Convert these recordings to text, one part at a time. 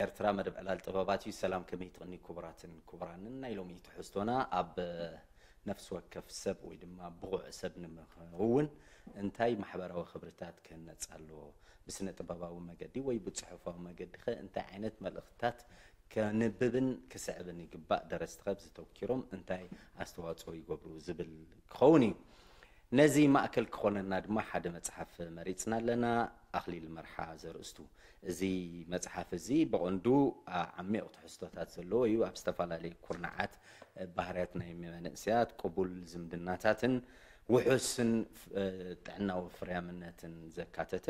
ኤርትራ መደብ ዕላል ጥበባት እዩ። ሰላም ከመይ ትቕኒ ክቡራትን ክቡራንን። ናይ ሎሚ ትሕዝቶና ኣብ ነፍሲ ወከፍ ሰብ ወይ ድማ ብቑዕ ሰብ ንምኸውን እንታይ ማሕበራዊ ክብርታት ክህነጽ ኣለዎ? ብስነ ጥበባዊ መገዲ ወይ ብጽሑፋዊ መገዲ ኸ እንታይ ዓይነት መልእኽትታት ከንብብን ክስዕብን ይግባእ? ደረስቲ ኸ ኣብዚ ተወኪሮም እንታይ ኣስተዋጽኦ ይገብሩ ዝብል ክኸውን እዩ። ነዚ ማእከል ክኾነና ድማ ሓደ መጽሓፍ መሪጽና ኣለና። ኣኽሊል መርሓ ዘርእስቱ እዚ መጽሓፍ እዚ ብቐንዱ ዓሚቕ ትሕዝቶታት ዘለዎ እዩ። ኣብ ዝተፈላለዩ ኩርናዓት ባህርያት ናይ መንእሰያት፣ ቅቡል ዝምድናታትን ውሑስን ጥዕናዊ ፍርያምነትን ዘካተተ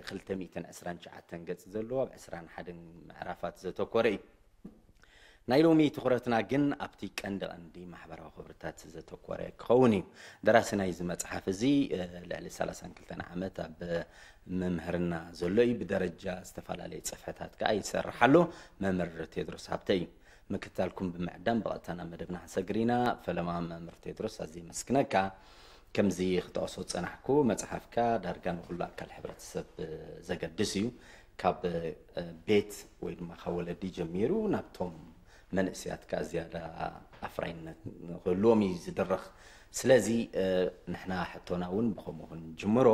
ክልተ ሚእትን ዕስራን ትሽዓተን ገጽ ዘለዎ ኣብ ዕስራን ሓደን ምዕራፋት ዘተኮረ እዩ። ናይ ሎሚ ትኹረትና ግን ኣብቲ ቀንዲ ቀንዲ ማሕበራዊ ክብርታት ዘተኮረ ክኸውን እዩ። ደራሲ ናይዚ መጽሓፍ እዚ ልዕሊ ሰላሳን ክልተን ዓመት ኣብ ምምህርና ዘሎ እዩ። ብደረጃ ዝተፈላለየ ጽፍሕታት ከኣ ይሰርሕ ኣሎ። መምህር ቴድሮስ ሃብተ እዩ። ምክትታልኩም ብምዕዳም ብቐጥታ ናብ መደብና ክንሰግር ኢና። ፈለማ መምህር ቴድሮስ ኣዝየ የመስግነካ። ከምዚ ክጠቕሶ ዝጸናሕኩ መጽሓፍካ ዳርጋ ንኹሉ ኣካል ሕብረተሰብ ዘገድስ እዩ። ካብ ቤት ወይ ድማ ካብ ወለዲ ጀሚሩ ናብቶም መንእሰያት ከኣ ዝያዳ ኣፍራይነት ንክህልዎም እዩ ዝድርኽ። ስለዚ ንሕና ሕቶና እውን ብኸምኡ ክንጅምሮ፣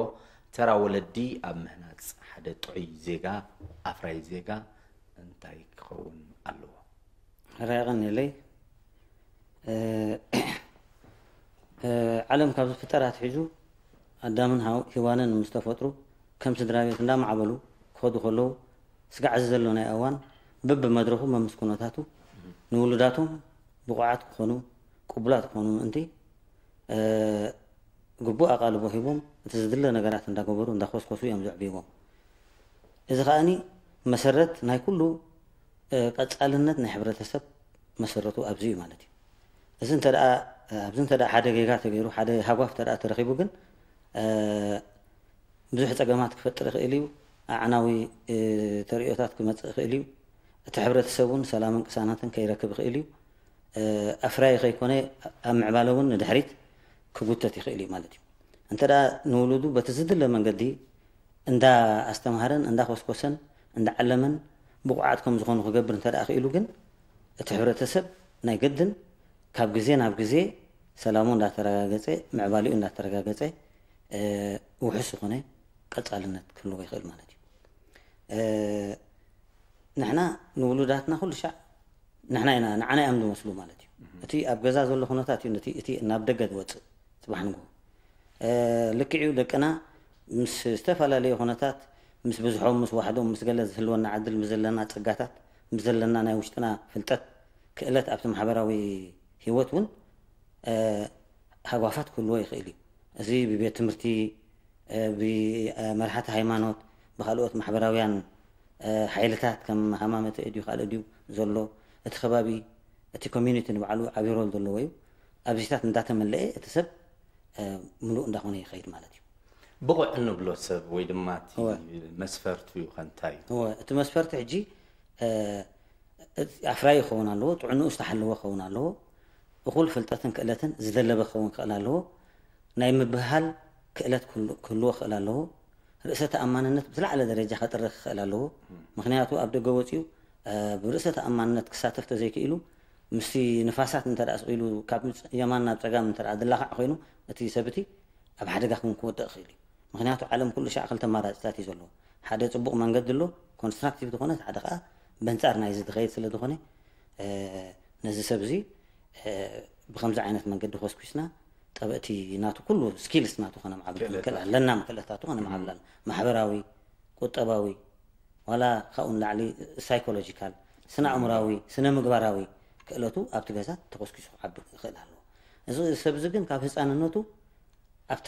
ተራ ወለዲ ኣብ ምህናጽ ሓደ ጥዑይ ዜጋ፣ ኣፍራይ ዜጋ እንታይ ክኸውን ኣለዎ? ሕራይ የቐንየለይ። ዓለም ካብ ዝፍጠር ኣትሒዙ ኣዳምን ሃው- ሂዋንን ምስ ተፈጥሩ ከም ስድራ ቤት እንዳማዕበሉ ክኸዱ ከለዉ ስጋዕ እዚ ዘሎ ናይ ኣዋን በብመድረኹ መምስ ኩነታቱ ንውሉዳቶም ብቑዓት ክኾኑ፣ ቅቡላት ክኾኑ ምእንቲ ግቡእ ኣቓልቦ ሂቦም እቲ ዝድለ ነገራት እንዳገበሩ እንዳኾስኮሱ እዮም ዘዕብይዎም። እዚ ከኣኒ መሰረት ናይ ኩሉ ቀጻልነት ናይ ሕብረተሰብ መሰረቱ ኣብዚ እዩ ማለት እዩ። እዚ እንተ ደኣ ኣብዚ እንተ ደኣ ሓደ ጌጋ ተገይሩ፣ ሓደ ሃጓፍ እንተ ደኣ ተረኺቡ ግን ብዙሕ ጸገማት ክፈጥር ይኽእል እዩ። ኣዕናዊ ተርእዮታት ክመጽእ ይኽእል እዩ። እቲ ሕብረተሰብ እውን ሰላምን ቅሳነትን ከይረክብ ይኽእል እዩ። ኣፍራይ ከይኮነ ኣብ ምዕባለ እውን ንድሕሪት ክጉተት ይኽእል እዩ ማለት እዩ። እንተ ደኣ ንውሉዱ በቲ ዝድለ መንገዲ እንዳ ኣስተምሃረን እንዳ ኮስኮሰን እንዳ ዓለመን ብቑዓት ከም ዝኾኑ ክገብር እንተ ደኣ ክኢሉ ግን እቲ ሕብረተሰብ ናይ ግድን ካብ ግዜ ናብ ግዜ ሰላሙ እንዳተረጋገጸ ምዕባሊኡ እንዳተረጋገጸ ውሑስ ዝኾነ ቀጻልነት ክህልዎ ይኽእል ማለት እዩ። ንሕና ንውሉዳትና ኩሉ ሻዕ ንሕና ኢና ንዓና እዮም ዝመስሉ ማለት እዩ። እቲ ኣብ ገዛ ዘሎ ኩነታት እዩ ነቲ እቲ ናብ ደገ ዝወፅእ። ፅባሕ ንግሆ ልክዕ እዩ ደቅና ምስ ዝተፈላለዩ ኩነታት ምስ ብዝሖም ምስ ዋሕዶም ምስ ገለ ዝህልወና ዕድል ምስ ዘለና ፀጋታት ምስ ዘለና ናይ ውሽጥና ፍልጠት ክእለት ኣብቲ ማሕበራዊ ህይወት እውን ሃጓፋት ክህልዎ ይኽእል እዩ። እዚ ብቤት ትምህርቲ ብመርሓቲ ሃይማኖት ብካልኦት ማሕበራውያን ሓይልታት ከም ሃማመተ ድዩ ካልእ ድዩ ዘሎ እቲ ከባቢ እቲ ኮሚኒቲ ንባዕሉ ዓብይ ሮል ዘለዎ እዩ። ኣብዚታት እንዳተመለአ እቲ ሰብ ምሉእ እንዳኾነ ይኸይድ ማለት እዩ። ብቑዕ እንብሎ ሰብ ወይ ድማ እቲ መስፈርቱ እዩ ከንታይ እዩ? እቲ መስፈርቲ ሕጂ ኣፍራይ ክኸውን ኣለዎ፣ ጥዕንኡ ዝተሓለወ ክኸውን ኣለዎ፣ እኹል ፍልጠትን ክእለትን ዝደለበ ክኸውን ክኽእል ኣለዎ፣ ናይ ምብህሃል ክእለት ክህልዎ ክኽእል ኣለዎ፣ ርእሰ ተኣማንነት ብዝለዓለ ደረጃ ከጥርኽ ክኽእል ኣለዎ። ምኽንያቱ ኣብ ደገ ወፂኡ ብርእሰ ተኣማንነት ክሳተፍ ተዘይክኢሉ ምስቲ ንፋሳት እንተ ደኣ ስቕ ኢሉ ካብ የማን ናብ ፀጋም እንተ ደኣ ዝላኻዕ ኮይኑ እቲ ሰብ እቲ ኣብ ሓደጋ ክውን ክወድቕ ይኽእል እዩ። ምኽንያቱ ዓለም ኩሉ ሻዕ ክልተ ኣማራፅታት እዩ ዘለዎ። ሓደ ፅቡቕ መንገዲ ኣሎ፣ ኮንስትራክቲቭ ዝኾነ፣ ሓደ ከዓ በንፃር ናይዚ ዝኸይድ ስለ ዝኾነ ነዚ ሰብ እዚ ብከምዚ ዓይነት መንገዲ ኮስኩስና ጠበእቲ ናቱ ኩሉ ስኪልስ ናቱ ከነማዕብል ክንክእል ኣለና። ክእለታቱ ከነማዕብል ኣለና። ማሕበራዊ፣ ቁጠባዊ፣ ዋላ ካብኡ ንላዕሊ ሳይኮሎጂካል፣ ስነ ኣእምራዊ፣ ስነ ምግባራዊ ክእለቱ ኣብቲ ገዛ ተኮስኪሱ ክዓቢ ክኽእል ኣለዎ። እዚ ሰብ እዚ ግን ካብ ህፃንነቱ ኣብታ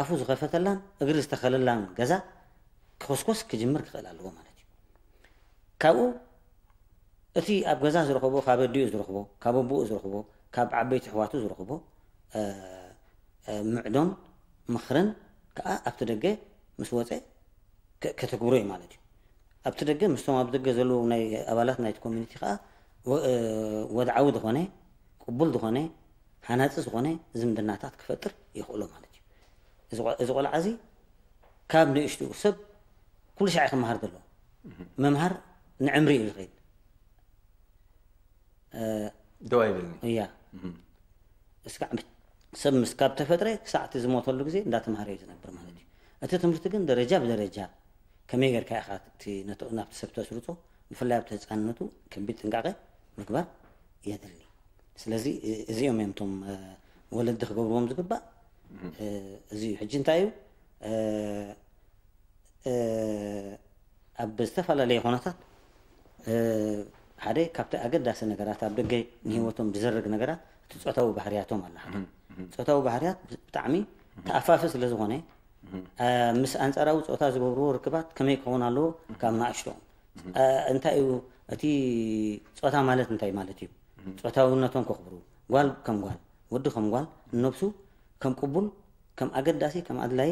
ኣፉ ዝኸፈተላን እግሪ ዝተኸለላን ገዛ ክኾስኮስ ክጅምር ክኽእል ኣለዎ ማለት እዩ። ካብኡ እቲ ኣብ ገዛ ዝረኸቦ፣ ካብ ኣዲኡ ዝረኽቦ፣ ካብ ኣቦኡ ዝረኽቦ፣ ካብ ዓበይቲ ኣሕዋቱ ዝረኽቦ ምዕዶን ምኽርን ከዓ ኣብቲ ደገ ምስ ወፀ ከተግብሮ እዩ ማለት እዩ። ኣብቲ ደገ ምስቶም ኣብ ደገ ዘለዉ ናይ ኣባላት ናይቲ ኮሚኒቲ ከዓ ወድዓዊ ዝኾነ ቅቡል ዝኾነ ሃናፂ ዝኾነ ዝምድናታት ክፈጥር የኽእሎ ማለት እዩ። እዚ ቆልዓ እዚ ካብ ንእሽትኡ ሰብ ኩሉ ሻዕ ክመሃር ዘለዎ ምምሃር ንዕምሪ እዩ ዝኸይድ። ደው ኣይብልኒ። እያ እስካዕ ሰብ ምስ ካብ ተፈጥረ ክሳዕ እቲ ዝሞተሉ ግዜ እንዳተምሃረ እዩ ዝነብር ማለት እዩ። እቲ ትምህርቲ ግን ደረጃ ብደረጃ ከመይ ጌርካ ኢኻ እቲ ነቶ- ናብቲ ሰብ ተስርጾ፣ ብፍላይ ኣብቲ ህፃንነቱ ከቢድ ጥንቃቄ ምግባር የድሊ። ስለዚ እ- እዚኦም እዮም እቶም እ፣ ወለዲ ክገብርዎም ዝግባእ እ፣ እዚ እዩ። ሕጂ እንታይ እዩ እ፣ እ፣ ኣብ ዝተፈላለየ ኩነታት እ፣ ሓደ ካብቲ ኣገዳሲ ነገራት ኣብ ደገ ንህይወቶም ዝዘርግ ነገራት እቲ ፆታዊ ባህርያቶም ኣሎ። ሓደ ፆታዊ ባህርያት ብጣዕሚ ተኣፋፊ ስለ ዝኾነ እ፣ ምስ ኣንፃራዊ ፆታ ዝገብርዎ ርክባት ከመይ ክኸውን ኣለዎ? ካብ ንኣሽቶኦም እ፣ እንታይ እዩ እቲ ፆታ ማለት እንታይ ማለት እዩ? ፆታውነቶም ከኽብሩ፣ ጓል ከም ጓል፣ ወዲ ከም ጓል፣ ንነብሱ ከም ቅቡል፣ ከም ኣገዳሲ፣ ከም ኣድላይ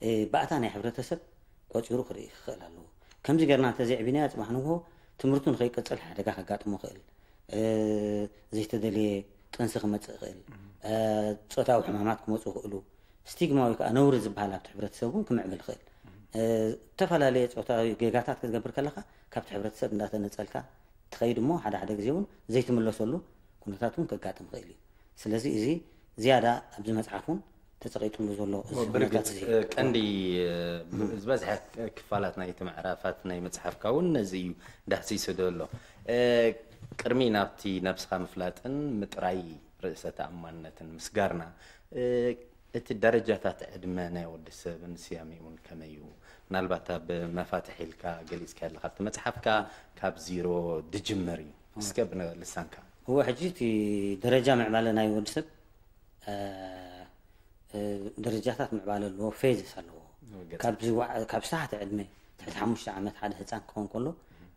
እ፣ ባእታ ናይ ሕብረተሰብ ቆፂሩ ክርኢ ክኽእል ኣለዎ። ከምዚ ጌርና እንተዘይዕቢናዮ ፅባሕ ንግሆ ትምህርቱ ንኸይቅፅል ሓደጋ ከጋጥሞ ይኽእል። እ፣ ዘይተደልየ ጥንሲ ክመፅእ ይኽእል። እ፣ ፆታዊ ሕማማት ክመፁ ይኽእሉ። ስቲግማ ወይ ከዓ ነውሪ ዝበሃል ኣብቲ ሕብረተሰብ እውን ክምዕብል ይኽእል። እ፣ ዝተፈላለየ ፆታዊ ጌጋታት ክትገብር ከለኻ ካብቲ ሕብረተሰብ እንዳተነፀልካ ትኸይድ እሞ ሓደ ሓደ ግዜ እውን ዘይትምለሰሉ ኩነታት እውን ከጋጥም ይኽእል እዩ። ስለዚ እዚ ዝያዳ ኣብዚ መፅሓፍ እውን ተፀቂጥሉ ዘሎ እዚ ኩነታት ብርግፅ እዚ እ፣ ቀንዲ እ፣ ዝበዝሐ ክፋላት ናይቲ ምዕራፋት ናይ መፅሓፍካ እውን ነዚ እዩ ዳህሲሱ ዘሎ። እ፣ ቅድሚ ናብቲ ነብስኻ ምፍላጥን ምጥራይ ርእሰ ተኣማንነትን ምስጋርና እ፣ እቲ ደረጃታት ዕድመ ናይ ወዲ ሰብን ስያሜኡን ከመይ እዩ? ምናልባት ኣብ መፋትሕ ኢልካ ገሊፅካ ኣለካ ኣብቲ መፅሓፍካ ካብ ዚሮ ድጅምር እዩ እስከ ብልሳንካ እወ ሕጂ እቲ ደረጃ ምዕባለ ናይ ወዲ ሰብ እ፣ እ፣ ደረጃታት ምዕባለ ኣለዎ፣ ፌዝስ ኣለዎ። ገጽ- ካብ ዝወዓ- ካብ ዝተሓተ ዕድመ ትሕቲ ሓሙሽተ ዓመት ሓደ ህፃን ክኸውን ከሎ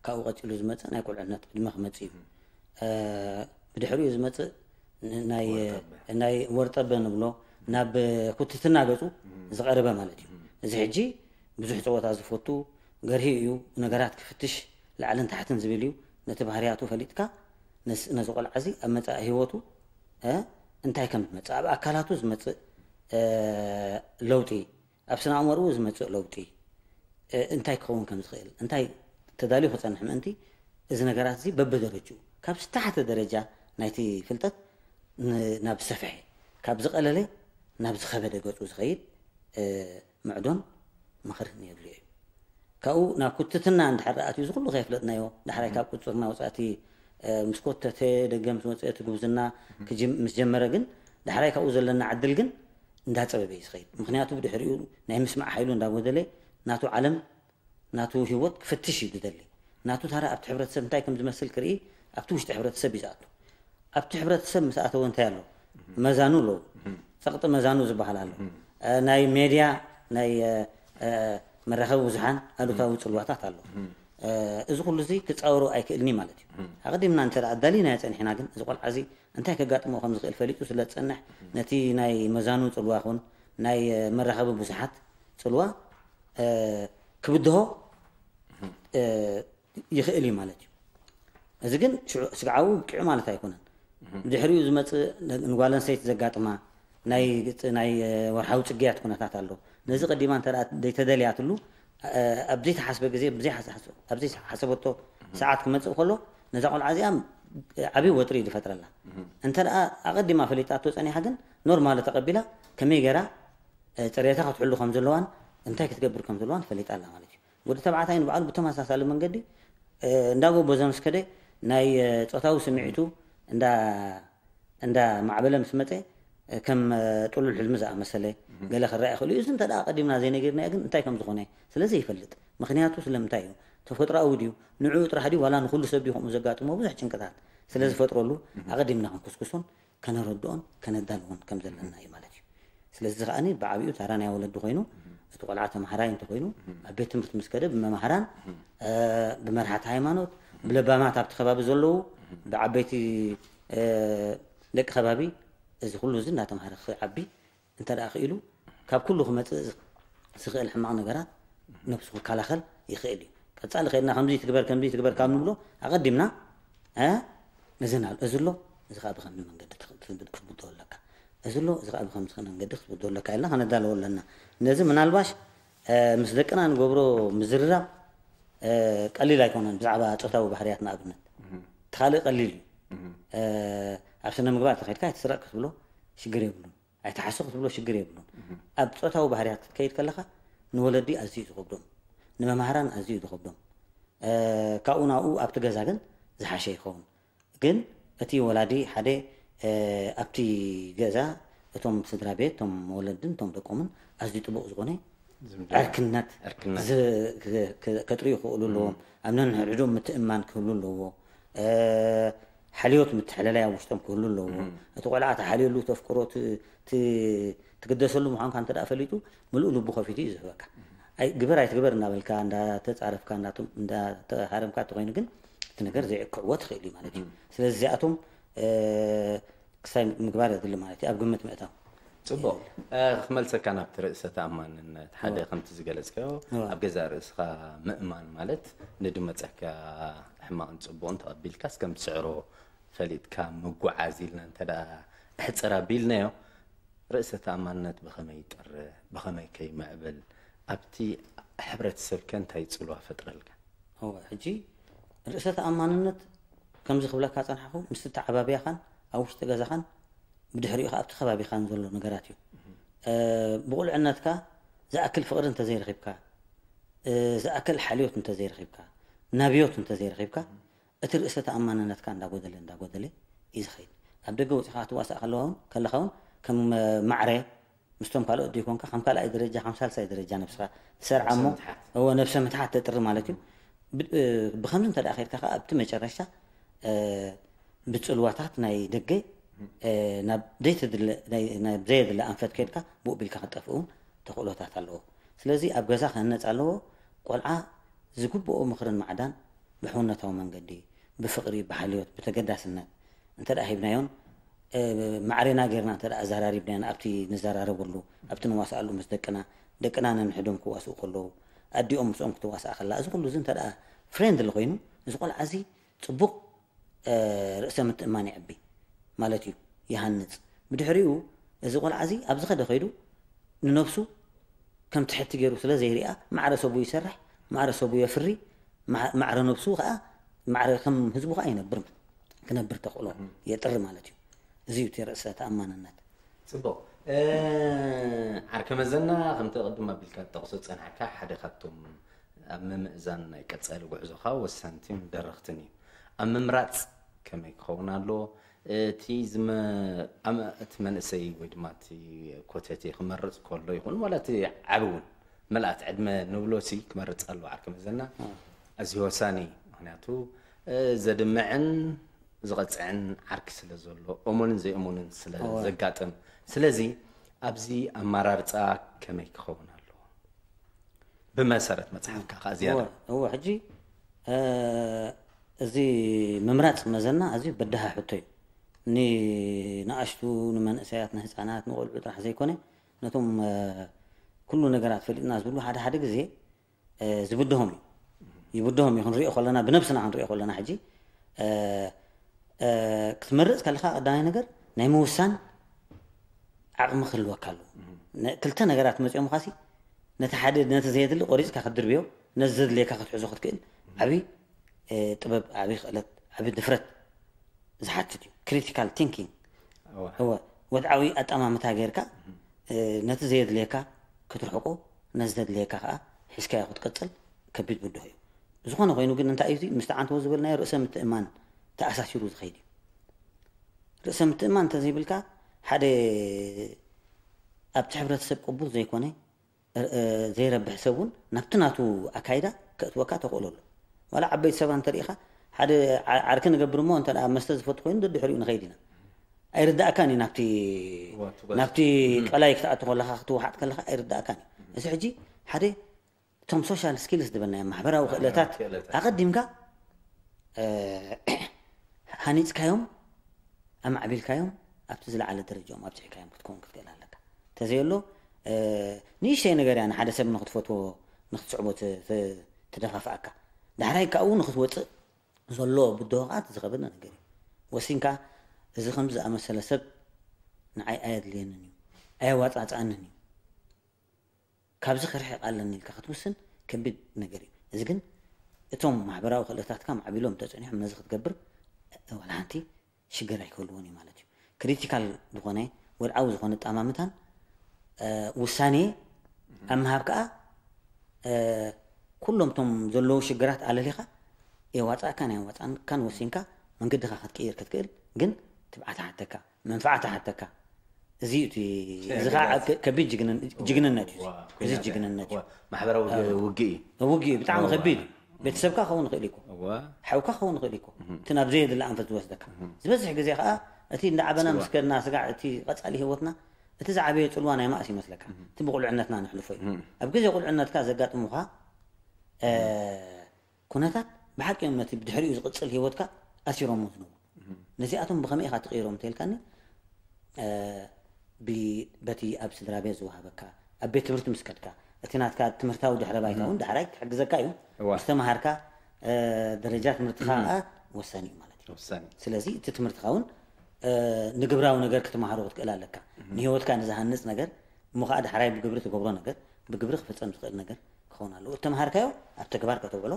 ካብኡ ቀፂሉ ዝመፅእ ናይ ቁልዕነት ዕድመ ክመፅእ እዩ። እ፣ ብድሕሪኡ ዝመፅእ ን- ናይ ናይ ወርጠበ ንብሎ ናብ ኩትትና ገፁ ዝቐረበ ማለት እዩ። እዚ ሕጂ ብዙሕ ፀወታ ዝፈቱ ገርሂ እዩ፣ ነገራት ክፍትሽ ላዕልን ታሕትን ዝብል እዩ። ነቲ ባህርያቱ ፈሊጥካ ነስ- ነዚ ቆልዓ እዚ ኣብ መፃኢ ህይወቱ እ፣ እንታይ ከም ዝመፅእ፣ ኣብ ኣካላቱ ዝመፅእ እ፣ ለውጢ፣ ኣብ ስነ ኣእምሮኡ ዝመፅእ ለውጢ እ፣ እንታይ ክኸውን ከም ዝኽእል፣ እንታይ ተዳልዩ ክፀንሕ ምእንቲ እዚ ነገራት እዚ በብደረጅኡ ካብ ዝተሓተ ደረጃ ናይቲ ፍልጠት ን- ናብ ዝሰፍሐ፣ ካብ ዝቐለለ ናብ ዝኸበደ ገፁ ዝኸይድ እ፣ ምዕዶን ምኽርን የድልዮ እዩ። ካብኡ ናብ ኩትትና እንድሕር ኣትዩ እዚ ኩሉ ከየፍለጥናዮ ዳሕራይ ካብ ቁፅፅርና ወፃእቲ እ፣ ምስ ኮተተ ደገ ምስ ወፀ እቲ ጉብዝና ክጅም- ምስ ጀመረ ግን ዳሕራይ ካብኡ ዘለና ዕድል ግን እንዳፀበበ እዩ ዝኸይድ። ምክንያቱ ብድሕሪኡ ናይ ምስማዕ ሓይሉ እንዳጎደለ ናቱ ዓለም ናቱ ህይወት ክፍትሽ እዩ ዝደሊ። ናቱ ታራ ኣብቲ ሕብረተሰብ እንታይ ከም ዝመስል ክርኢ ኣብቲ ውሽጢ ሕብረተሰብ እዩ ዝኣቱ። ኣብቲ ሕብረተሰብ ምስ ኣተወ እንታይ ኣሎ? መዛኑ ኣለዉ። ፀቕጢ መዛኑ ዝበሃል ኣሎ። እ፣ ናይ ሜድያ ናይ እ፣ እ፣ መራኸቢ ብዙሓን ኣሉታዊ ፅልዋታት ኣሎ። እ፣ እዚ ኩሉ እዚ ክፃወሮ ኣይክእልኒ ማለት እዩ። ኣቐዲምና እንተ ደኣ ኣዳሊናዮ ፀኒሕና ግን እዚ ቆልዓ እዚ እንታይ ከጋጥሞ ከም ዝኽእል ፈሊጡ ስለ ዝፀንሕ ነቲ ናይ መዛኑ ፅልዋ ኹን ናይ እ፣ መራኸቢ ብዙሓት ፅልዋ እ፣ ክብድሆ እ፣ ይኽእል እዩ ማለት እዩ። እዚ ግን ሽዑ ስግዓዊ ውቂዑ ማለት ኣይኮነን። ብድሕሪኡ ዝመፅእ ንጓል ኣንስተይቲ ዘጋጥማ ናይ ናይ ወርሓዊ ፅግያት ኩነታት ኣሎ። ነዚ ቀዲማ እንተ ደኣ ዘይተደልያትሉ እ፣ ኣብ ዘይተሓስበ ግዜ ብዘይ ሓስ- ኣብ ዘይሓሰበቶ ሰዓት ክመፅእ ከሎ ነዛ ቆልዓ እዚኣ ዓብዪ ወጥሪ እዩ ዝፈጥረላ። እንተ ደኣ ኣቐዲማ ፈሊጣቶ ፀኒሓ ግን ኖርማል ተቐቢላ ከመይ ገይራ እ፣ ፅሬታ ክትሕሉ ከም ዘለዋን እንታይ ክትገብር ከም ዘለዋን ፈሊጣ ኣላ ማለት እዩ። ወዲ ተባዕታይ ንባዕሉ ብተመሳሳሊ መንገዲ እ፣ እንዳ ጎበዞ ምስ ከደ ናይ እ፣ ፆታዊ ስምዒቱ እንዳ እንዳ ማዕበለ ምስ መፀ እ፣ ከም እ፣ ጥሉል ሕልሚ ዝኣመሰለ ገለ ክረኣ ይኽእል እዩ። እዚ እንተ ደኣ ኣቐዲምና ዘይነጊርናዮ ግን እንታይ ከም ዝኾነ ስለ ዘይፈልጥ ምክንያቱ ስለምንታይ እዩ? ተፈጥሮኣዊ ድዩ? ንዕኡ ጥራሕ ድዩ ዋላ ንኹሉ ሰብ ድዩ ከምኡ ዘጋጥሞ ብዙሕ ጭንቅታት ስለ ዝፈጥረሉ ኣቐዲምና ክንኩስኩሶን ከነረድኦን ከነዳልዎን ከም ዘለና እዩ ማለት እዩ። ስለዚ እዚ ከዓኒ ብዓቢኡ ታራ ናይ ወለዲ ኮይኑ እቲ ቆልዓ ተምሃራይ እንተኮይኑ ኣብ ቤት ትምህርቲ ምስ ከደ ብመምሃራን እ፣ ብመርሓቲ ሃይማኖት ብለባማት ኣብቲ ከባቢ ዘለዉ ብዓበይቲ እ፣ ደቂ ከባቢ እዚ ኩሉ እዚ እናተምሃረ ክዓቢ እንተ ደኣ ክኢሉ ካብ ኩሉ ክመፅእ ዝኽእል ሕማቕ ነገራት ነብሱ ክከላኸል ይኽእል እዩ። ቀፃሊ ከድና ከምዚ ትግበር ከምዚ ትግበር ካብ ንብሎ ኣቐዲምና እ፣ እዚ ና- እዚ ኣሎ እዚ ከዓ ብከምዚ መንገዲ ትኽ- ክትብድኦ ኣለካ፣ እዚ ኣሎ እዚ ከዓ ብከምዚ መንገዲ ክትብድኦ ኣለካ ኢልና ከነዳለዎ ኣለና። ነዚ ምናልባሽ እ፣ ምስ ደቅና ንገብሮ ምዝርራብ ቀሊል ኣይኮነን። ብዛዕባ ፆታዊ ባህርያት ንኣብነት እቲ ካልእ ቀሊል እዩ። ኣብ ስነ ምግባር ተኸድካ ኣይትስረቅ ክትብሎ ሽግር የብሉን። ኣይትሓሱ ክትብሎ ሽግር የብሉን። ኣብ ፆታዊ ባህርያት ክትከይድ ከለኻ ንወለዲ ኣዝዩ ዝኸብዶም፣ ንመምሃራን ኣዝዩ ዝኸብዶም። ካብኡ ናብኡ ኣብቲ ገዛ ግን ዝሓሸ ይኸውን። ግን እቲ ወላዲ ሓደ ኣብቲ ገዛ እቶም ስድራ ቤት እቶም ወለድን እቶም ደቆምን ኣዝዩ ጥቡቕ ዝኾነ ዕርክነት ከጥርዩ ክኽእሉ ኣለዎም። ኣብ ነንሕድሕዶም ምትእማን ክህሉ ኣለዎ። ሓልዮት ምትሕልላይ ኣብ ውሽጦም ክህሉ ኣለዎ። እቲ ቆልዓ ተሓልየሉ ተፍቅሮ ትግደሰሉ ምዃንካ እንተ ፈሊጡ ምሉእ ልቡ ከፊቱ እዩ ዝህበካ። ግበር ኣይትግበር እናበልካ እንዳተፃረፍካ እንዳተሃረምካ እንተኮይኑ ግን እቲ ነገር ዘይዕክዕዎ ትኽእል እዩ ማለት እዩ። ስለዚ እዚኣቶም ክሳይ ምግባር የድሊ ማለት እዩ ኣብ ግምት ምእታው። ፅቡቕ። ክመልሰካ ናብቲ ርእሰ ተኣማንነት ሓደ ከምቲ ዝገለፅካዮ ኣብ ገዛ ርእስኻ ምእማን ማለት ንድመፀካ ሕማቕን ፅቡቕን ተቐቢልካስ ከም ትስዕሮ ፈሊጥካ ምጉዓዝ ኢልና እንተ ኣሕፅር ኣቢልናዮ ርእሰ ተኣማንነት ብኸመይ ይጥርህ ብኸመይ ከይምዕብል ኣብቲ ሕብረተሰብ ከ እንታይ ፅልዋ ፈጥረልካ? ሕጂ ርእሰ ተኣማንነት ከምዚ ክብለካ ፀናሕኹ ምስቲ ተዓባብያኻን ኣብ ውሽጢ ገዛኻን ብድሕሪኡ ከዓ ኣብቲ ከባቢኻን ዘሎ ነገራት እዩ። ብቁልዕነትካ ዝኣክል ፍቕሪ እንተዘይረኺብካ፣ ዝኣክል ሓልዮት እንተዘይረኺብካ፣ ናብዮት እንተዘይረኺብካ እቲ ርእሰ ተኣማንነትካ እንዳጎደለ እንዳጎደለ እዩ ዝኸይድ። ኣብ ደገ ወፂኻ ክትዋሳእ ከለኻ እውን ከም ማዕረ ምስቶም ካልኦት ዘይኮንካ ከም ካልኣይ ደረጃ ከም ሳልሳይ ደረጃ ነብስኻ ትሰርዓ እሞ እወ ነብሰ ምትሓት ተጥሪ ማለት እዩ። ብከምዚ እንተ ከድካ ከ ኣብቲ መጨረሻ ብፅልዋታት ናይ ደገ ናብ ዘይተድለ ናብ ዘየድለ ኣንፈት ከድካ ብኡ ቢልካ ክትጠፍእ እውን ተኽእሎታት ኣለዎ። ስለዚ ኣብ ገዛ ክህነፅ ኣለዎ። ቆልዓ ዝግብኦ ምኽርን ማዕዳን ብሕውነታዊ መንገዲ ብፍቕሪ ብሓልዮት ብተገዳስነት እንተ ሂብናዮን ማዕሬና ጌርና እንተ ኣዘራሪብናዮ ኣብቲ ንዘራረበሉ ኣብቲ ንዋስኣሉ ምስ ደቅና ደቅና ነንሕዶም ክዋስኡ ከለዉ ኣዲኦም ምስኦም ክትዋስኣ ከላ እዚ ኩሉ እዚ እንተ ፍሬንድሊ ኮይኑ እዚ ቆልዓ እዚ ፅቡቕ ርእሰ ምትእማን ይዕቢ ማለት እዩ ይሃንፅ። ብድሕሪኡ እዚ ቆልዓ እዚ ኣብ ዝኸደ ከይዱ ንነብሱ ከም ትሕቲ ገይሩ ስለ ዘይሪኣ ማዕረ ሰቡ ይሰርሕ፣ ማዕረ ሰቡ የፍሪ፣ ማዕረ ነብሱ ከዓ ማዕረ ከም ህዝቡ ከዓ ይነብር ክነብር ተኽእሎ የጥሪ ማለት እዩ። እዚ እዩ እቲ ርእሰ ተኣማንነት። ፅቡቕ። ዓርከ መዘና ከምቲ ቅድም ኣቢልካ ትጠቕሶ ዝፀናሕካ ሓደ ካብቶም ኣብ ምምእዛን ናይ ቀፃሊ ጉዕዞኻ ወሰንቲን ደረኽትን እዩ። ኣብ ምምራፅ ከመይ ክኸውን ኣለዎ? እቲ እቲ መንእሰይ ወይ ድማ እቲ ኮተቴ ክመርፅ ከሎ ይኹን ዋላ እቲ ዓቢ እውን ምልኣት ዕድመ ንብሎ ሲ ክመርፅ ኣለዎ ዓርከ መዘና። ኣዝዩ ወሳኒ እዩ። ምክንያቱ ዘድምዕን ዝቐፅዕን ዓርኪ ስለ ዘሎ እሙንን ዘይእሙንን ስለ ዘጋጥም ስለዚ ኣብዚ ኣመራርፃ ከመይ ክኸውን ኣለዎ? ብመሰረት መፅሓፍካ ከዓ ዝያዳ እወ ሕጂ እዚ ምምራፅ መዘና ኣዝዩ በዳሃ ሕቶ እዩ። ንንኣሽቱ ንመንእሰያት ንህፃናት ንቆልዑ ጥራሕ ዘይኮነ ነቶም ኩሉ ነገራት ፈሊጥና ዝብሉ ሓደ ሓደ ግዜ ዝብድሆም እዩ ይብድሆም እዩ ክንሪኦ ከለና ብነብስና ክንሪኦ ከለና ሕጂ ክትመርፅ ከለካ ቀዳማይ ነገር ናይ ምውሳን ዓቕሚ ክህልወካ ኣለዎ። ክልተ ነገራት መፂኦም ኻሲ ነቲ ሓደ ነቲ ዘየድሊ ቆሪፅካ ክትድርብዮ ነዚ ዘድልየካ ክትሕዞ ክትክእል ዓብዪ ጥበብ ዓብዪ ክእለት ዓብዪ ድፍረት ዝሓትት እዩ። ክሪቲካል ቲንኪንግ እወ ወድዓዊ ኣጠማምታ ጌርካ ነቲ ዘየድልየካ ክትርሕቆ ነዚ ዘድልየካ ከዓ ሒዝካዮ ክትቀፅል ከቢድ ብድሆ እዩ። ዝኾነ ኮይኑ ግን እንታይ እዩ ምስቲ ዓንተቦ ዝበልናዮ ርእሰ ምትእማን ተኣሳሲሩ ዝኸይድ እዩ። ርእሰ ምትእማን እንተዘይብልካ ሓደ ኣብቲ ሕብረተሰብ ቅቡል ዘይኮነ ዘይረብሕ ሰብ እውን ናብቲ ናቱ ኣካይዳ ከእትወካ ተኽእሎ ኣሎ። ዋላ ዓበይቲ ሰባት እንተሪኢኻ ሓደ ዓርኪ ንገብር እሞ እንተ መስተ ዝፈቱ ኮይኑ ደድሕሪኡ ንኸይድ ኢና። ኣይርዳእካን እዩ ናብቲ ናብቲ ቀላይ ክትኣቱ ከለካ ክትወሓጥ ከለካ ኣይርዳእካን እዩ። እዚ ሕጂ ሓደ እቶም ሶሻል ስኪልስ ዝበልናዮ ማሕበራዊ ክእለታት ኣቐዲምካ ሃኒፅካዮም ኣማዕቢልካዮም ኣብቲ ዝለዓለ ደረጃኦም ኣብፅሕካዮም ክትከውን ክትክእል ኣለካ። እንተዘየሎ ንእሽተይ ነገር እያ ንሓደ ሰብ ንክትፈትዎ ንክትስዕቦ ትደፋፍኣካ። ዳሕራይ ካብኡ ንክትወፅእ ዘሎ ብድሆ ከዓ ዝኸበደ ነገር እዩ። ወሲንካ እዚ ከም ዝኣመሰለ ሰብ ንዓይ ኣየድልየንን እዩ ኣየዋፃፅኣንን እዩ ካብዚ ክርሕቕ ኣለኒ ኢልካ ክትውስን ከቢድ ነገር እዩ። እዚ ግን እቶም ማሕበራዊ ክእለታትካ ማዕቢሎም ተጸኒሖም ነዚ ክትገብር ዋላ ሓንቲ ሽግር ኣይክህልዎን እዩ ማለት እዩ። ክሪቲካል ዝኾነ ወድዓዊ ዝኾነ ኣጠማምታን ውሳኔ ኣብ ምሃብ ከዓ ኩሎም እቶም ዘለዉ ሽግራት ኣለሊኻ የዋፃእካን ኣየዋፃእካን ወሲንካ መንገድኻ ክትቅይር ክትክእል፣ ግን ትብዓት ሓተካ፣ መንፍዓት ሓተካ። እዚ እዩ እቲ እዚ ከዓ ከቢድ ጅግንነት እዩ። እዚ ጅግንነት እዩ። ማሕበራዊ ውግእ እዩ። ውግእ እዩ ብጣዕሚ ከቢድ እዩ። ቤተሰብካ ክኸውን ይኽእል እዩ። ሓውካ ክኸውን ይኽእል እዩ። እቲ ናብ ዘየድሊ ኣንፈት ዝወስደካ ዝበዝሕ ግዜ ከዓ እቲ እንዳዓበና ምስ ከድና ስጋዕ እቲ ቀፃሊ ህይወትና እቲ ዝዓበየ ፅልዋ ናይ ማእስ ይመስለካ። እቲ ብቁልዕነትና ንሕልፎ እዩ። ኣብ ግዜ ቁልዕነትካ ዘጋጥሙካ ኩነታት ብሓቂ እዮም ነቲ ብድሕሪኡ ዝቕፅል ህይወትካ ኣሲሮሞ ዝነብሩ። ነዚኣቶም ብኸመይ ኢኻ ትቕይሮም እንተልካኒ በቲ ኣብ ስድራ ቤት ዝወሃበካ ኣብ ቤት ትምህርቲ ምስ ከድካ እቲ ናትካ ትምህርታዊ ድሕረ ባይታ እውን ዳሕራይ ክሕግዘካ እዩ። ምስ ተምሃርካ ደረጃ ትምህርትኻ ከዓ ወሳኒ እዩ ማለት እዩ። ስለዚ እቲ ትምህርትኻ እውን ንግብራዊ ነገር ክትምሃሮ ክትክእል ኣለካ። ንህይወትካ ንዝሃንፅ ነገር እሞ ከዓ ዳሕራይ ብግብሪ ትገብሮ ነገር ብግብሪ ክፍፀም ዝኽእል ነገር ክኸውን ኣለዎ። እተምሃርካዮ ኣብ ተግባር ከተውዕሎ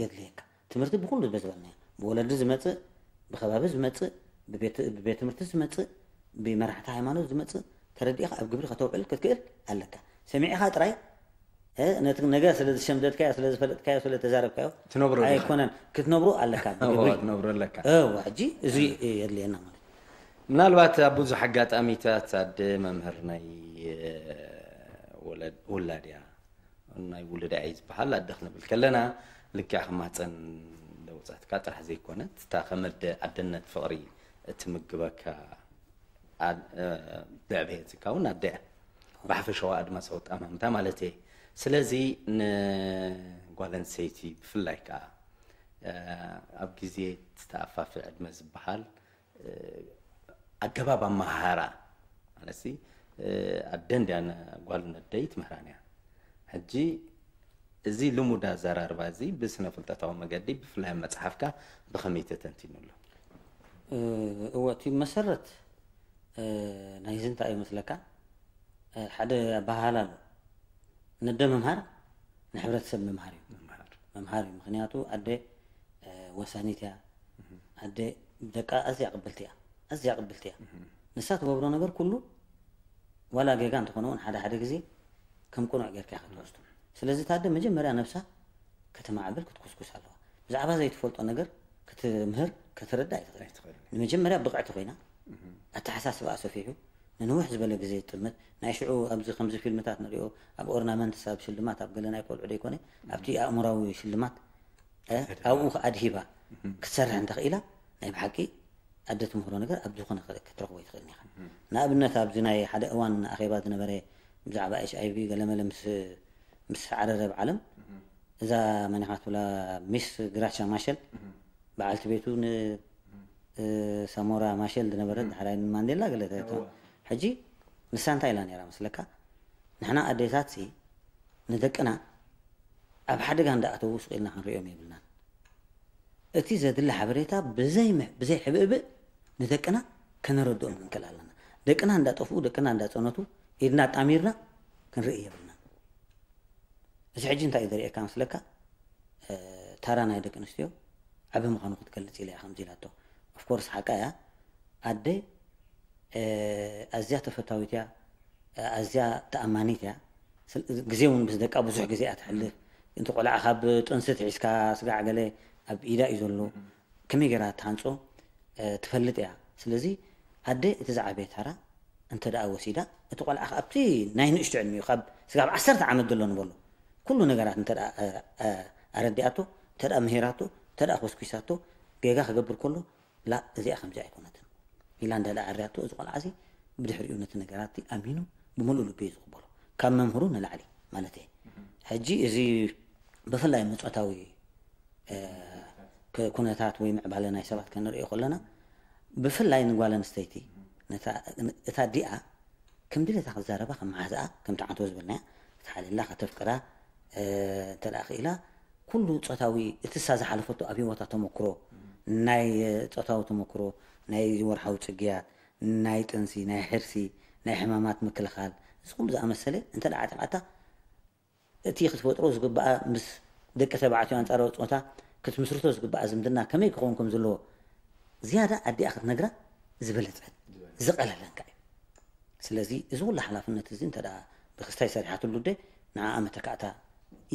የድልየካ። ትምህርቲ ብኩሉ ዝበዝበልናዮ ብወለዲ ዝመፅእ ብከባቢ ዝመፅእ ብቤት ትምህርቲ ዝመፅእ ብመራሕቲ ሃይማኖት ዝመፅእ ተረዲእካ ኣብ ግብሪ ከተውዕል ክትክእል ኣለካ። ሰሚዕካ ጥራይ ነቲ ነገር ስለ ዝሸምደድካዮ ስለ ዝፈለጥካዮ ስለ ተዛረብካዮ ትነብሮ ኣይኮነን ክትነብሮ ኣለካ። ብግብሪ ትነብሮ ኣለካ። እወ ሕጂ እዚ የድልየና ማለት እዩ። ምናልባት ኣብ ብዙሕ ኣጋጣሚታት ኣደ መምህር ናይ ውላድ እያ ናይ ውሉዳ እያ ዝበሃል ኣደ ክንብል ከለና ልክዕ ከማፀን ለውፃትካ ጥራሕ ዘይኮነት እታ ከመደ ኣደነት ፍቕሪ እትምግበካ ብዕብየትካ እውን ኣደ እያ ብሓፈሻዊ ኣድማሳዊ ጠማምታ ማለት እየ። ስለዚ ንጓል ኣንስተይቲ ብፍላይ ከዓ ኣብ ግዜ ተኣፋፊ ዕድመ ዝበሃል ኣገባብ ኣመሃህራ ማለት ኣደ እንድያ ጓል ነደይ ትምህራን እያ። ሕጂ እዚ ልሙድ ኣዘራርባ እዚ ብስነ ፍልጠታዊ መገዲ ብፍላይ ኣብ መፅሓፍካ ብኸመይ ተተንቲኑ ኣሎ? እወ እቲ መሰረት ናይዚ እንታይ እዩ መስለካ? ሓደ ኣበሃህላ ኣሎ። ነደ ምምሃር ንሕብረተሰብ ምምሃር እዩ። ምምሃር እዩ። ምክንያቱ ኣደ ወሳኒት እያ። ኣደ ደቃ ኣዝያ ቅብልቲ እያ። ኣዝያ ቅብልቲ እያ። ንሳ ትገብሮ ነገር ኩሉ ዋላ ጌጋ እንተኾነ እውን ሓደ ሓደ ግዜ ከም ቅኑዕ ጌርካ ክትወስዶ። ስለዚ ታደ መጀመርያ ነብሳ ከተማዕብል ክትኩስኩስ ኣለዋ። ብዛዕባ ዘይትፈልጦ ነገር ክትምህር ከተረዳ ኣይትኽእል። ንመጀመርያ ብቕዕቲ ኮይና ኣተሓሳስባኣ ሰፊሑ ንንውሕ ዝበለ ግዜ ትጥምት ናይ ሽዑ ኣብዚ ከምዚ ፊልምታት ንሪኦ ኣብ ኦርናመንትስ ኣብ ሽልማት ኣብ ገለ ናይ ቆልዑ ደይኮነ ኣብቲ ኣእምራዊ ሽልማት ኣብኡ ኣድሂባ ክትሰርሕ እንተኽኢላ ናይ ብሓቂ ኣደ ትምህሮ ነገር ኣብ ዝኾነ ክትረኽቦ ይትኽእል ኢኻ። ንኣብነት ኣብዚ ናይ ሓደ እዋን ኣኼባ ዝነበረ ብዛዕባ ኤች ኣይቪ ገለመለ ምስ ዓረረ ኣብ ዓለም እዛ መን ኢኻ ትብላ ሚስ ግራቻ ማሸል በዓልቲ ቤቱ ንሳሞራ ማሸል ዝነበረት ድሕራይ ንማንዴላ ገለ ሕጂ ንሳ እንታይ ኢላ ነይራ መስለካ? ንሕና ኣዴታት ንደቅና ኣብ ሓደጋ እንዳኣተዉ ስቕ ኢልና ክንሪኦም የብልናን። እቲ ዘድሊ ሓበሬታ ብዘይ ሕብእብእ ንደቅና ከነረድኦም ክንክእል ኣለና። ደቅና እንዳጠፍኡ ደቅና እንዳፀነቱ ኢድና ኣጣሚርና ክንርኢ የብልናን። እዚ ሕጂ እንታይ እዩ ዘርእየካ መስለካ? ታራ ናይ ደቂ ኣንስትዮ ዓቢ ምዃኑ ክትገልጽ ኢለ እያ ከምዚ ኢላቶ። ኦፍኮርስ ሓቃ እያ። ኣደ ኣዝያ ተፈታዊት እያ፣ ኣዝያ ተኣማኒት እያ። ግዜ እውን ምስ ደቃ ብዙሕ ግዜ እያ ትሕልፍ። እቲ ቆልዓ ካብ ጥንሲ ትሒዝካ ስጋዕ ገለ ኣብ ኢዳ እዩ ዘሎ። ከመይ ገይራ ትሃንጾ ትፈልጥ እያ። ስለዚ ኣደ እቲ ዝዓበየ ታራ እንተ ደኣ ወሲዳ እቲ ቆልዓ ኣብቲ ናይ ንእሽቶ ዕድሚኡ ካብ ስጋብ ዓሰርተ ዓመት ዘሎ ንበሎ ኩሉ ነገራት እንተ ኣረዲኣቶ እንተ ምሂራቶ እንተ ኮስኩሳቶ ጌጋ ክገብር ከሎ ላ እዚኣ ከምዚ ኣይኮነትን ኢላ እንዳ ኣዕርያቶ እዚ ቆልዓ እዚ ብድሕሪኡ ነቲ ነገራት ኣሚኑ ብምሉእ ልቢ እዩ ዝቕበሎ ካብ መምህሩ ንላዕሊ ማለት እየ። ሕጂ እዚ ብፍላይ ምጾታዊ ኩነታት ወይ ምዕባለ ናይ ሰባት ከንሪኦ ከለና ብፍላይ ንጓል ኣንስተይቲ እታ ዲኣ ከም ድሌታ ክዛረባ ከም መሓዝኣ ከም ትዓንቶ ዝበልናያ ክትሓልላ ከተፍቅራ እንተ ክኢላ ኩሉ ፆታዊ እቲ እሳ ዝሓለፈቶ ኣብ ህይወታ ተመክሮ ናይ ፆታዊ ተመክሮ ናይ ወርሓዊ ፅግያት ናይ ጥንሲ ናይ ሕርሲ ናይ ሕማማት ምክልኻል እዚ ኩሉ ዝኣመሰለ እንተ ዓጢቓታ እቲ ክትፈጥሮ ዝግባኣ ምስ ደቂ ተባዕትዮ ኣንጻራዊ ጾታ ክትምስርቶ ዝግባኣ ዝምድና ከመይ ክኸውን ከም ዘለዎ ዝያዳ ኣዲኣ ክትነግራ ዝበለጸን ዝቐለለን ከኣ እዩ። ስለዚ እዚ ኩሉ ሓላፍነት እዚ እንተ ደኣ ብክስታይ ሰሪሓትሉ ደ ንዓኣ መተካእታ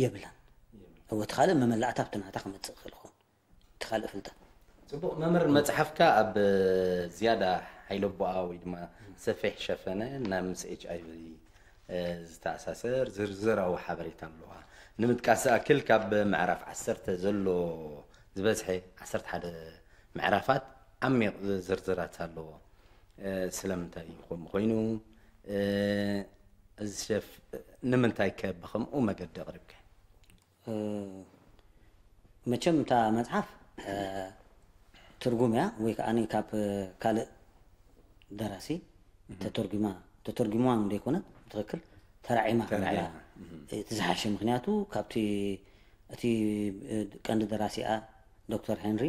የብላን። እወ እቲ ካልእ መመላእታ ኣብቲ ናታ ክመጽእ ክኽእል ይኸውን። እቲ ካልእ ፍልጠት ጽቡቕ መምህር፣ መጽሓፍካ ኣብ ዝያዳ ሓይለቦኣ ወይ ድማ ሰፊሕ ሸፈነ ናብ ምስ ኤች ኣይ ቪ ዝተኣሳሰር ዝርዝራዊ ሓበሬታ ኣለዋ። ንምጥቃስ ዝኣክል ካብ ምዕራፍ ዓሰርተ ዘሎ ዝበዝሐ ዓሰርተ ሓደ ምዕራፋት ዓሚቕ ዝርዝራት ኣለዎ። ስለምንታይ ከምኡ ኮይኑ፣ እዚ ሸፍ ንምንታይ ከ ብኸምኡ መገዲ ኣቕሪብካ? መቸም እታ መጽሓፍ ትርጉም እያ ወይ ከዓ ካብ ካልእ ደራሲ ተተርጉማ ተተርጉማ ዘይኮነት ብትኽክል ተራዒማ እቲ ዝሓሸ። ምክንያቱ ካብቲ እቲ ቀንዲ ደራሲኣ ዶክተር ሄንሪ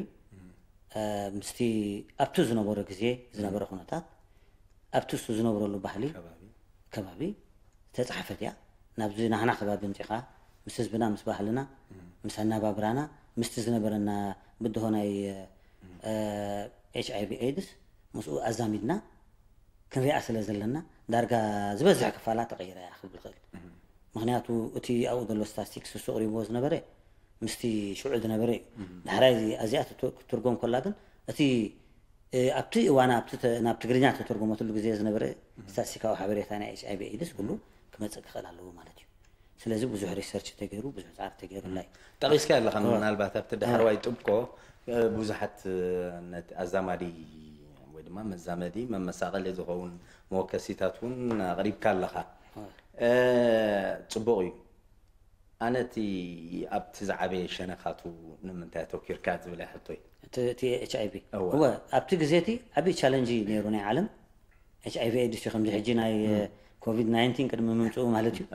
ምስቲ ኣብቲ ዝነበሮ ግዜ ዝነበረ ኩነታት ኣብቲ እሱ ዝነብረሉ ባህሊ ከባቢ ዝተፃሕፈት እያ። ናብዚ ናህና ከባቢ ምፂኻ ምስ ህዝብና ምስ ባህልና ምስ ኣናባብራና ምስቲ ዝነበረና ብድሆ ናይ ኤች ኣይ ቪ ኤድስ ምስኡ ኣዛሚድና ክንሪኣ ስለ ዘለና ዳርጋ ዝበዝሕ ክፋላ ተቐይራ እያ ክብል ይኽእል። ምክንያቱ እቲ ኣብኡ ዘሎ ስታስቲክስ እሱ ኣቕሪብዎ ዝነበረ ምስቲ ሽዑ ዝነበረ እዩ። ዳሕራይ ኣዚኣ ክትትርጎም ከላ ግን እቲ ኣብቲ እዋን ናብ ትግርኛ ተተርጎመትሉ ግዜ ዝነበረ ስታስቲካዊ ሓበሬታ ናይ ኤች ኣይ ቪ ኤድስ ኩሉ ክመፅእ ክኽእል ኣለዎ ማለት እዩ። ስለዚ ብዙሕ ሪሰርች ተገይሩ ብዙሕ ፃዕሪ ተገይሩላ እዩ። ጠቒስካ ኣለኻ ምናልባት ኣብቲ ዳሕረዋይ ጥብቆ ብዙሓት ነቲ ኣዛማዲ ወይ ድማ መዛመዲ መመሳቐሊ ዝኸውን መወከሲታት እውን ኣቕሪብካ ኣለኻ። ጽቡቕ እዩ። ኣነ እቲ ኣብቲ ዝዓበየ ሸነኻቱ ንምንታይ ኣተኪርካ ዝብል ሕቶይ። እቲ ኤች ኣይ ቪ እወ ኣብቲ ግዜ እቲ ዓብዪ ቻለንጅ ነይሩ ናይ ዓለም ኤች ኣይ ቪ ኤድስ እዩ። ከምዚ ሕጂ ናይ ኮቪድ ናይንቲን ቅድሚ ምምፅኡ ማለት እዩ።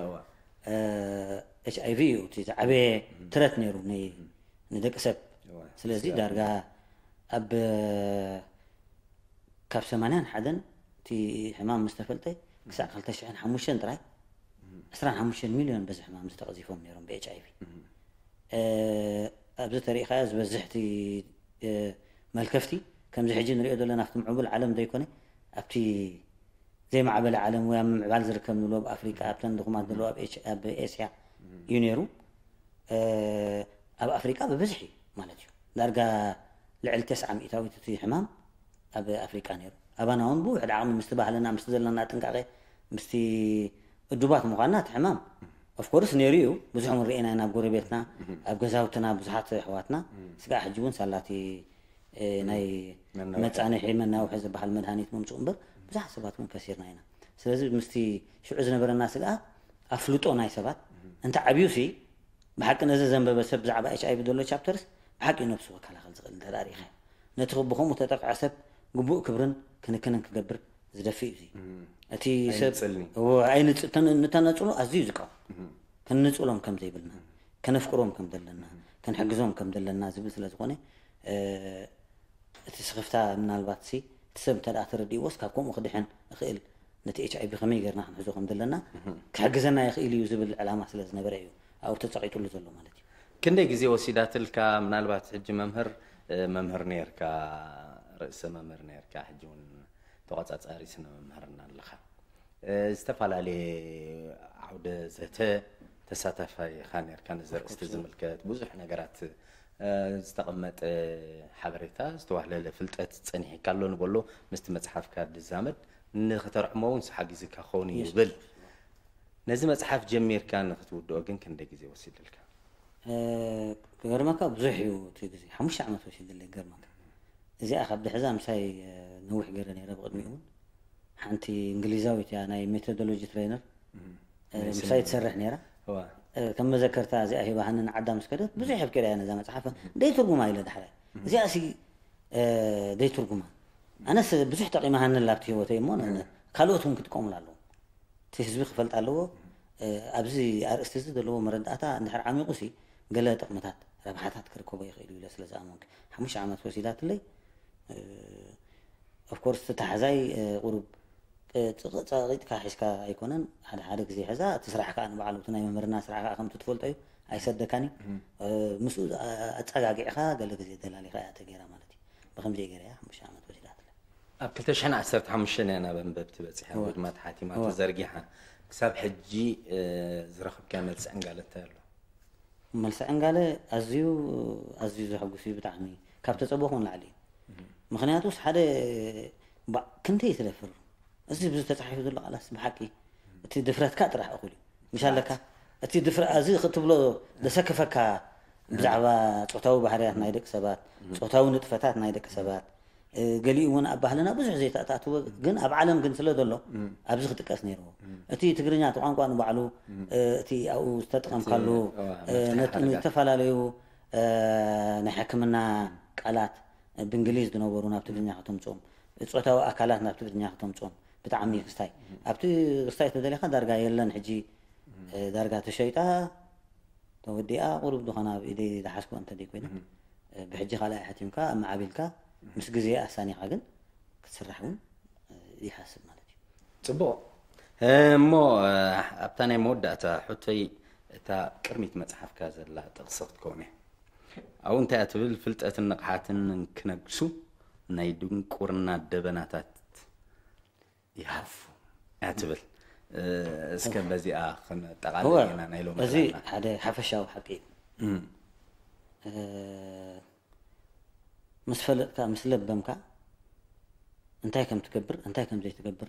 ኤች ኣይ ቪ እዩ እቲ ዝዓበየ ትረት ነይሩ ንደቂ ሰብ። ስለዚ ዳርጋ ኣብ ካብ ሰማንያን ሓደን እቲ ሕማም ምስ ተፈልጠ ክሳዕ ክልተ ሽሕን ሓሙሽተን ጥራይ ዕስራን ሓሙሽተን ሚልዮን በዚ ሕማም ዝተቐዚፎም ነይሮም ብ ኤች ኣይ ቪ። ኣብዚ ተሪኢኻዮ ዝበዝሕ እቲ መልከፍቲ ከምዚ ሕጂ ንሪኦ ዘለና ኣብቲ ምዕቡል ዓለም ዘይኮነ ኣብቲ ዘይማዕበለ ዓለም ወይ ኣብ ምምዕባል ዝርከብ ንብሎ ኣብ ኣፍሪቃ ኣብተን ድኹማት ዘለዎ ኣብ ኤስያ እዩ ነይሩ። ኣብ ኣፍሪቃ ብብዝሒ ማለት እዩ ዳርጋ ልዕሊ ተስዓ ሚእታዊት እቲ ሕማም ኣብ ኣፍሪቃ ነይሩ። ኣባና እውን ብውሕድ ዓቕሚ ምስቲ ባህልና ምስቲ ዘለና ጥንቃቄ ምስቲ እዱባት ምዃንና እቲ ሕማም ኦፍኮርስ ነይሩ እዩ። ብዙሕ እውን ርኢና ኢና ኣብ ጎረቤትና ኣብ ገዛውትና ብዙሓት ኣሕዋትና ስጋዕ ሕጂ እውን ሳላቲ ናይ መጻንሒ መናውሒ ዝበሃል መድሃኒት ምምፅኡ እምበር ብዙሓት ሰባት እውን ከሲርና ኢና። ስለዚ ምስቲ ሽዑ ዝነበረና ስግኣት ኣፍልጦ ናይ ሰባት እንተ ዓብዩ ሲ ብሓቂ ነዚ ዘንበበ ሰብ ብዛዕባ ኤች ኣይ ቪ ዘሎ ቻፕተርስ ብሓቂ እዩ ነብሱ ክከላኸል ዝኽእል እንተ ርኢኻ ነቲ ብኸምኡ ተጠቅዐ ሰብ ግቡእ ክብርን ክንክንን ክገብር ዝደፍእ እዩ። እቲ ሰብ ኣይንተነፅሎ ኣዝዩ ዝቃወም ከነፅሎም ከም ዘይብልና ከነፍቅሮም ከም ዘለና ከንሕግዞም ከም ዘለና ዝብል ስለ ዝኾነ እቲ ስኽፍታ ምናልባት ሲ እቲ ሰብ እንተ ተረዲእዎስ ካብ ከምኡ ክድሕን እኽእል ነቲ ኤች ኣይ ቪ ከመይ ጌርና ክንሕዞ ከም ዘለና ክሕግዘና ይኽእል እዩ ዝብል ዕላማ ስለ ዝነበረ እዩ ኣብኡ ተፀቒጡሉ ዘሎ ማለት እዩ። ክንደይ ግዜ ወሲዳትልካ? ምናልባት ሕጂ መምህር መምህር ነርካ፣ ርእሰ መምህር ነርካ፣ ሕጂ እውን ተቆፃፃሪ ስነ መምህርና ኣለኻ። ዝተፈላለየ ዓውደ ዘተ ተሳታፋይ ኢኻ ነርካ። ነዚ ርእስቲ ዝምልከት ብዙሕ ነገራት ዝተቐመጠ ሓበሬታ ዝተዋህለለ ፍልጠት ፀኒሕካ ኣሎ ንበሎ ምስቲ መፅሓፍካ ዝዛመድ ንክተርዕሞ እውን ሓጊዝካ ክኸውን እዩ ይብል። ነዚ መፅሓፍ ጀሚርካ ንክትውድኦ ግን ክንደይ ግዜ ወሲድልካ? ክገርመካ ብዙሕ እዩ እቲ ግዜ ሓሙሽተ ዓመት ወሲድለይ ክገርመካ። እዚኣ ካብ ድሕዛ ምሳይ ነዊሕ ገይረ ነይረ ብቅድሚኡ እውን ሓንቲ እንግሊዛዊት እያ ናይ ሜቶዶሎጂ ትሬነር ምሳይ ትሰርሕ ነይራ። ከም መዘከርታ እዚኣ ሂባሃኒ ንዓዳ ምስ ከደት ብዙሕ የፍቂዳ እያ ነዛ መፅሓፍ ደይ ትርጉማ ኢለ ዳሕራይ እዚኣ ሲ ደይ ትርጉማ ኣነስ ብዙሕ ጠቂማሃኒ ኣብቲ ህይወተይ እሞ ካልኦት እውን ክጥቀሙላ ኣለዎም። እቲ ህዝቢ ክፈልጥ ኣለዎ። ኣብዚ ኣርእስቲ እዚ ዘለዎ መረዳእታ እንድሕር ዓሚቑ ሲ ገለ ጥቕምታት ረብሓታት ክርከቦ ይኽእል እዩ ኢለ ስለ ዝኣመንኩ ሓሙሽተ ዓመት ወሲዳትለይ። ኦፍኮርስ እቲ ታሕዛይ ቁሩብ ጸቂጥካ ሒዝካ ኣይኮነን ሓደ ሓደ ግዜ ሕዛ እቲ ስራሕ ከዓ ንባዕሉ እቲ ናይ መምህርና ስራሕ ከዓ ከምቲ ትፈልጦ እዩ ኣይሰደካን እዩ። ምስኡ ኣፀጋጊዕካ ገለ ግዜ ደላሊኻ እያ ተገይራ ማለት እዩ። ብከምዚ ገይራ እያ ሓሙሽተ ዓመት ወሲዳትለ። ኣብ ክልተ ሽሕን ዓሰርተ ሓሙሽተን እያ ናብ ኣንበብቲ በፂሓ ወይ ድማ ተሓቲማ ተዘርጊሓ። ክሳብ ሕጂ ዝረኸብካዮ መልሲ ዕንጋለ እንታይ ኣሎ? መልሲ ዕንጋለ ኣዝዩ ኣዝዩ ዘሐጉስ እዩ ብጣዕሚ፣ ካብ ተፀበኹ ንላዕሊ እዩ። ምክንያቱስ ሓደ ክንደይ ትደፍር፣ እዚ ብዙ ተፃሒፉ ዘሎ ቃላስ ብሓቂ እቲ ድፍረትካ ጥራሕ እኹል እዩ። ምሽ ኣለካ እቲ ድፍረ እዚ ክትብሎ ዘሰክፈካ ብዛዕባ ፆታዊ ባህርያት ናይ ደቂ ሰባት፣ ፆታዊ ንጥፈታት ናይ ደቂ ሰባት፣ ገሊኡ እውን ኣብ ባህልና ብዙሕ ዘይተኣታትዎ ግን ኣብ ዓለም ግን ስለ ዘሎ ኣብዚ ክጥቀስ ነይርዎ። እቲ ትግርኛ እቲ ቋንቋ ንባዕሉ እቲ ኣብኡ ዝተጠቐምካሉ ዝተፈላለዩ ናይ ሕክምና ቃላት ብእንግሊዝ ዝነበሩ ናብ ትግርኛ ከተምፅኦም፣ ፆታዊ ኣካላት ናብ ትግርኛ ከተምፅኦም ብጣዕሚ ክስታይ ኣብቲ ክስታይ ተደሊኻ ዳርጋ የለን። ሕጂ ዳርጋ ተሸይጣ ተወዲኣ ቁሩብ ዝኾነ ኣብ ኢደይ ዝሓዝኩ እንተ ደይ ኮይነ ብሕጂ ካልኣይ ሓቲምካ ኣመዓቢልካ ምስ ግዜ ኣሳኒኻ ግን ክትስራሕ እውን ይሓስብ ማለት እዩ። ፅቡቕ። እሞ ኣብታ ናይ መወዳእታ ሕቶይ፣ እታ ቅድሚት መፅሓፍካ ዘላ ጥቕሲ ክትከውን እያ። ኣብኡ እንታይ እያ ትብል? ፍልጠትን ንቕሓትን እንክነግሱ ናይ ድንቁርና ደበናታት ይሃፉ እያ ትብል። እስከ በዚኣ ክነጠቓልል ኢና ናይ ሎሚ እዚ ሓደ ሓፈሻዊ ሓቂ እዩ። ምስ ፈለጥካ ምስ ለበምካ እንታይ ከም ትገብር እንታይ ከም ዘይትገብር፣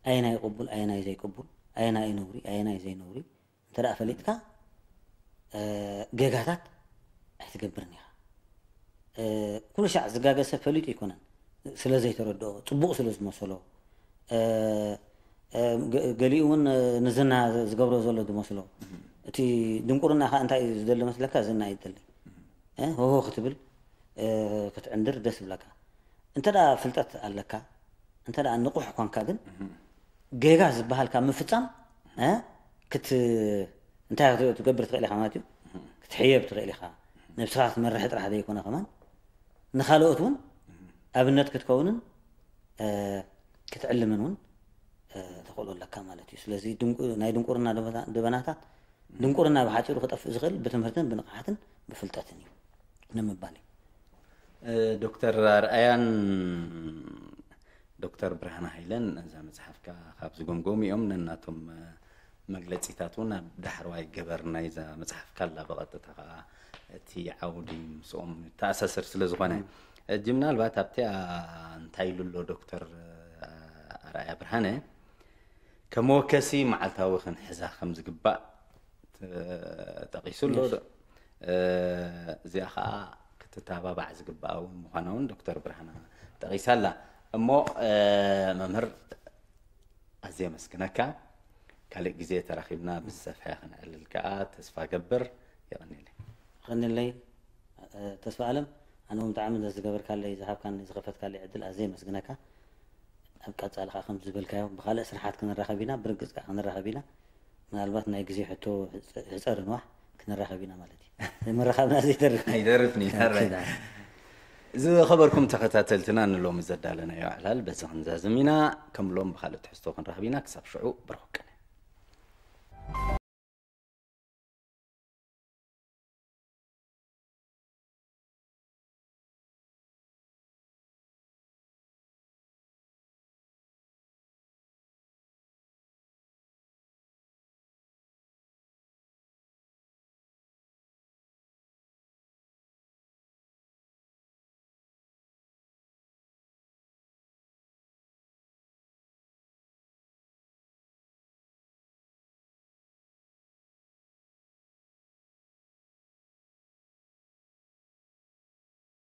ኣየናይ ቅቡል ኣየናይ ዘይቅቡል፣ ኣየናይ ነውሪ ኣየናይ ዘይነውሪ እንተ ደኣ ፈሊጥካ ጌጋታት ኣይትገብርን ኢኻ። ኩሉ ሻዕ ዝጋገ ሰብ ፈሊጡ ኣይኮነን፣ ስለ ዘይተረድኦ ፅቡቕ ስለ ዝመሰሎ፣ ገሊኡ እውን ንዝና ዝገብሮ ዘሎ ዝመስሎ፣ እቲ ድንቁርና ከዓ እንታይ እዩ ዝደሊ መስለካ? ዝና እዩ ዝደሊ። ሆሆ ክትብል ክትዕንድር ደስ ይብለካ። እንተ ደኣ ፍልጠት ኣለካ፣ እንተ ደኣ ንቑሕ ኮንካ ግን ጌጋ ዝበሃል ካብ ምፍፃም ክት እንታይ ክትገብር ትኽእል ኢኻ ማለት እዩ። ክትሕየብ ትኽእል ኢኻ። ነብስኻ ክትመርሕ ጥራሕ ዘይኮነ ከማን ንኻልኦት እውን ኣብነት ክትከውንን ክትዕልምን እውን ተኽእሎ ኣለካ ማለት እዩ። ስለዚ ናይ ድንቁርና ደበናታት፣ ድንቁርና ብሓፂሩ ክጠፍእ ዝኽእል ብትምህርትን ብንቕሓትን ብፍልጠትን እዩ ንምባል እዩ። ዶክተር ኣርኣያን ዶክተር ብርሃነ ሃይለን ነዛ መፅሓፍካ ካብ ዝገምገሙ እዮም። ነናቶም መግለፂታት እውን ኣብ ዳሕረዋይ ገበር ናይዛ መፅሓፍካ ኣላ። ብቐጥታ ከዓ እቲ ዓውዲ ምስኦም ተኣሳስር ስለ ዝኾነ ሕጂ ምናልባት ኣብቲኣ እንታይ ኢሉ ኣሎ ዶክተር ኣርኣያ ብርሃነ፣ ከመወከሲ መዓልታዊ ክንሕዛ ከም ዝግባእ ጠቒሱ ኣሎ። እዚኣ ከዓ ክትተባባዕ ዝግባእ እውን ምዃና እውን ዶክተር ብርሃና ጠቒሳ ኣላ። እሞ መምህር ኣዝየ ኣመስግነካ። ካልእ ግዜ ተራኺብና ብዝሰፍሐ ክንዕልል ከዓ ተስፋ ገብር። የቐንየለይ። የቐንየለይ ተስፋ ኣለም። ኣነ እውን ብጣዕሚ ዝገበርካለይ ዝሃብካኒ ዝኸፈትካለይ ዕድል ኣዝየ ኣመስግነካ። ኣብ ቀፃሊ ከዓ ከም ዝበልካዮ ብካልእ ስራሓት ክንራኸብ ኢና፣ ብርግፅ ከዓ ክንራኸብ ኢና። ምናልባት ናይ ግዜ ሕቶ ሕፀር ንዋሕ ክንራኸብ ኢና ማለት እዩ። ምርኻብና ዘይተርፍ ኣይደርፍን ይተረዳ። ዝኸበርኩም ተኸታተልትና ንሎሚ ዘዳለናዮ ዕላል በዚ ክንዛዝም ኢና። ከም ሎም ብካልእ ትሕዝቶ ክንራኸብ ኢና። ክሳብ ሽዑ ብርኹቅነ።